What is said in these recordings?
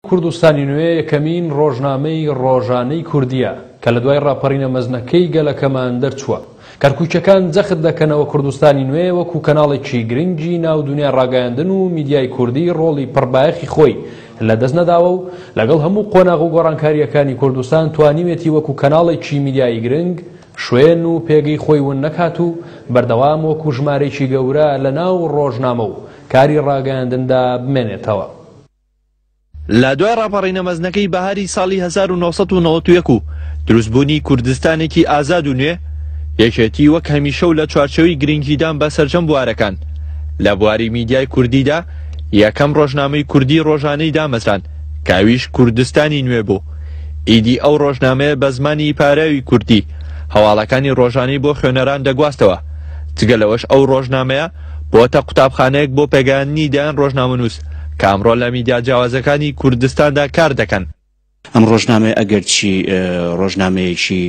کوردستانی نوێ یەکەمین ڕۆژنامەی ڕۆژانەی کوردییە کە لە دوای ڕاپەڕینە مەزنەکەی گەلەکەمان دەرچووە. کەرکووکیەکان جەخت دەکەنەوە کوردستانی نوێ وەکو کەناڵێکی گرنگی ناو دونیای ڕاگەیاندن و میدیای کوردی ڕۆڵی پڕبایەخی خۆی لە دەست نەداوە و لەگەڵ هەموو قۆناغ و گۆڕانکارییەکانی کوردستان توانیوێتی وەکو کەناڵێکی میدیایی گرنگ شوێن و پێگەی خۆی ون نەکات و بەردەوام وەکو ژمارەیەکی گەورە لە ناو ڕۆژنامە و کاری ڕاگەیاندندا بمێنێتەوە. لە دوای ڕاپەڕینە مەزنەکەی بەهاری ساڵی 1991 و دروستبوونی کوردستانێکی ئازاد و نوێ، یەکێتی وەک هەمیشە و لە چوارچێوەی گرنگیدان بە سەرجەم بوارەکان لە بواری میدیای کوردیدا یەکەم ڕۆژنامەی کوردی ڕۆژانەی دامەزراند کە ئەویش کوردستانی نوێ بوو. ئیدی ئەو ڕۆژنامەیە بە زمانی پاراوی کوردی هەواڵەکانی ڕۆژانەی بۆ خوێنەران دەگواستەوە. جگە لەوەش ئەو ڕۆژنامەیە بۆتە قوتابخانەیەک بۆ پێگەیاندنی دەیان ڕۆژنامەنووس کە ئەمڕۆ لە میدیا جیاوازەکانی کوردستاندا کار دەکەن. ئەم ڕۆژنامەیە ئەگەرچی ڕۆژنامەیەکی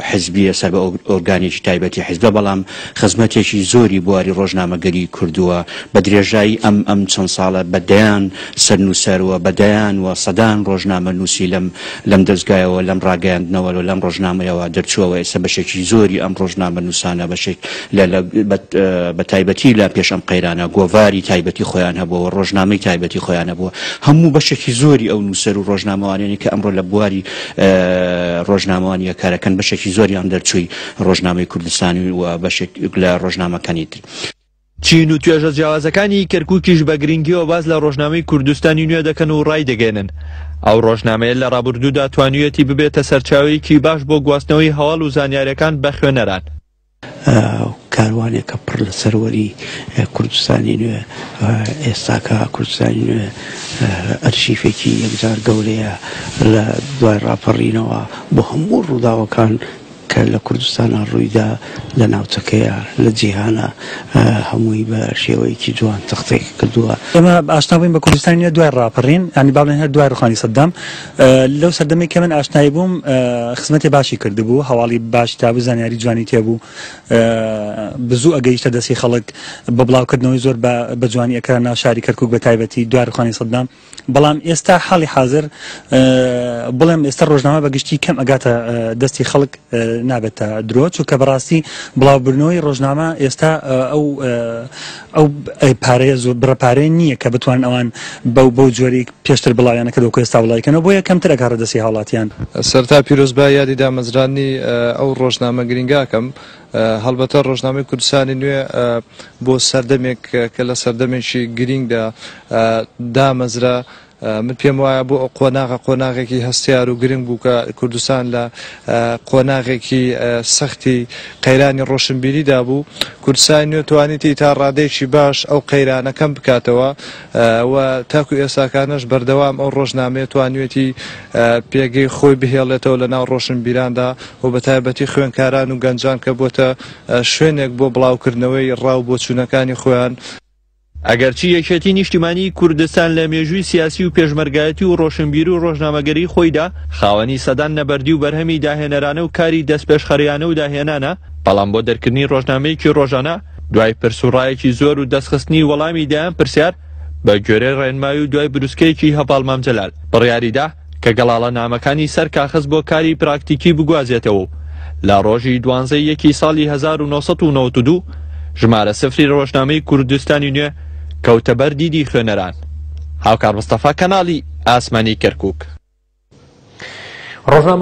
حزبییە سەر بە ئۆرگانێکی تایبەتی حزبە، بەڵام خزمەتێکی زۆری بواری ڕۆژنامەگەری کردووە. بە درێژایی ئەم ئەم چەند ساڵە بە دەیان سەرنووسەر و بە دەیان و سەدان ڕۆژنامەنووسی لەم لەم دەزگایەوە، لەم ڕاگەیاندنەوە و لەم ڕۆژنامەیەوە دەرچووە و ئێستا بەشێکی زۆری ئەم ڕۆژنامەنووسانە بەشێک لە لە بە تایبەتی لە پێش ئەم قەیرانە گۆڤاری تایبەتی خۆیان هەبووە و ڕۆژنامەی تایبەتی خۆیان هەبووە. هەموو بەشێکی زۆری ئەو نووسەر و ڕۆژنامەوانانەی کە ئەمڕۆ لە بواری ڕۆژنامەوانییە کارەکەن بەشێکی زۆریان دەرچووی ڕۆژنامەی کوردستانی و بەشێک لە ڕۆژنامەکانی تر. چین و توێژە جیاوازەکانی کەرکوکیش بە گرنگیەوە باس لە ڕۆژنامەی کوردستانی نوێ دەکەن و ڕایدەگەیەنن ئەو ڕۆژنامەیە لە ڕابردوودا توانیویەتی ببێتە سەرچاوەیەکی باش بۆ گواستنەوەی هەواڵ و زانیاریەکان بە خوێنەران. کاروانێکە پڕ لە سەروەری کوردستانی نوێ، ئێستاکە کوردستانی نوێ ئەرشیفێکی یەکجار گەورەیە لە دوای ڕاپەڕینەوە بۆ هەموو ڕووداوەکان کە لە کوردستانا ڕوویدا، لە ناوچەکەیا، لە جیهانا هەمووی بە شێوەیەکی جوان تەختێک کردووە. ئێمە ئاشنا بووین بە کوردستانی نوێ دوای ڕاپەڕین، یانی با بڵێین هەر دوای ڕووخانی سەدام. لەو سەردەمەی کە من ئاشنای بووم خزمەتی باشی کردبوو، هەواڵی باشی تابوو، زانیاری جوانی تێبوو، بزوو ئەگەیشتە دەستی خەڵک، بە بڵاوکردنەوەی زۆر بە جوانی ئەکرا ناو شاری کەرکووک بە تایبەتی دوای ڕووخانی سەدام. بەڵام ئێستا حاڵی حازر بڵێم ئێستا ڕۆژنامە بە گشتی کەم ئەگاتە دەستی خەڵک نابێتە درۆ چونکە بەڕاستی بڵاوبردنەوەی ڕۆژنامە ئێستا ئەو ئەو پارەیە زۆر بڕە پارەیە نییە کە بتوانن ئەوان بەو بەو جۆری پێشتر بڵاویانە کردەوە ئێستا بڵاویکەنەوە بۆیە کەمتر ئەگاتە دەستی هاوڵاتیان. سەرەتا پیرۆزبای یادی دامەزراندنی ئەو ڕۆژنامە گرینگە ئەکەم هەڵبەتە ڕۆژنامەی کوردستانی نوێ بۆ سەردەمێک کە لە سەردەمێکی گرینگدا دامەزرا، من پێم وایە بۆ ئەو قۆناغە قۆناغێکی هەستیار و گرنگ بوو کە کوردستان لە قۆناغێکی سەختی قەیرانی ڕۆشنبیریدا بوو. کوردستانی نوێ توانیتی تا ڕادەیەکی باش ئەو قەیرانە کەم بکاتەوە و تاکو ئێستاکانەش بەردەوام ئەو ڕۆژنامەیە توانیوێتی پێگەی خۆی بهێڵێتەوە لە ناو ڕۆشنبیراندا و بە تایبەتی خوێندکاران و گەنجان کە بۆتە شوێنێک بۆ بڵاوکردنەوەی ڕا و بۆچوونەکانی خۆیان. ئەگەرچی یەکێتی نیشتیمانیی کوردستان لە مێژووی سیاسی و پێشمەرگایەتی و ڕۆشنبیری و ڕۆژنامەگەریی خۆیدا خاوەنی سەدان نەبەردی و بەرهەمی داهێنەرانە و کاری دەستپێشخەریانە و داهێنانە، بەڵام بۆ دەرکردنی ڕۆژنامەیەکی ڕۆژانە دوای پرس و ڕایەکی زۆر و دەستخستنی وەڵامی دەیان پرسیار بە گوێرەی ڕێنمایی و دوای بروسکەیەکی هەڤاڵ مام جەلال بڕیاریدا کە گەڵاڵە نامەکانی سەر کاخەز بۆ کاری پراکتیکی بگوازێتەوە و لە ڕۆژی دوانزەی یەکی ساڵی 1992 ژمارە سفری ڕۆژنامەی کوردستانی نوێ کەوتە بەر دیدی خوێنەران. هاوکار مستەفا کەناڵی ئاسمانی کەرکوک. ڕۆژنامە.